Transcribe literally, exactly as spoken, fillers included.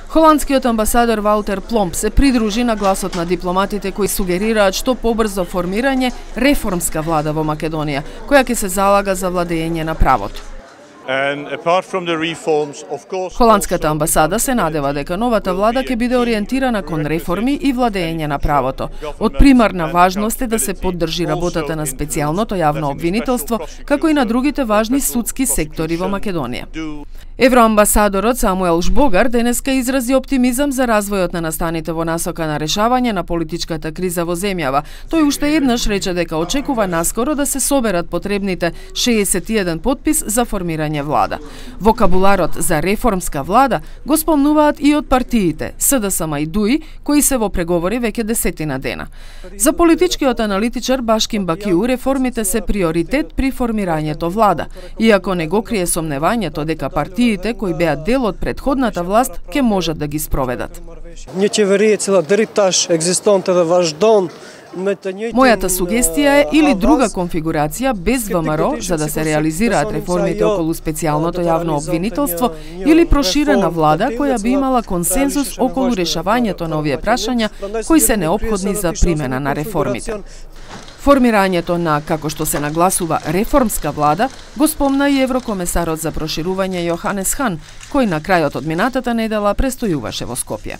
Холандскиот амбасадор Ваутер Пломп се придружи на гласот на дипломатите кои сугерираат што побрзо формирање реформска влада во Македонија, која ќе се залага за владење на правото. Холандската амбасада се надева дека новата влада ќе биде ориентирана кон реформи и владење на правото. Од примарна важност е да се поддржи работата на специјалното јавно обвинителство, како и на другите важни судски сектори во Македонија. Евроамбасадорот Самуел Жбогар денеска изрази оптимизам за развојот на настаните во насока на решавање на политичката криза во земјава. Тој уште еднаш рече дека очекува наскоро да се соберат потребните шеесет и еден потпис за формирање влада. Вокабуларот за реформска влада го спомнуваат и од партиите СДСМ и ДУИ, кои се во преговори веќе десетина дена. За политичкиот аналитичар Башким Бакиу реформите се приоритет при формирањето влада, иако не го крие сомневањето дека партиите кои беа дел од претходната власт ќе можат да ги спроведат. Мојата сугестија е или друга конфигурација без ВМРО за да се реализираат реформите околу специјалното јавно обвинителство или проширена влада која би имала консензус околу решавањето на овие прашања кои се неопходни за примена на реформите. Формирањето на, како што се нагласува, реформска влада го спомна и еврокомесарот за проширување Јоханес Хан, кој на крајот од минатата недела престојуваше во Скопје.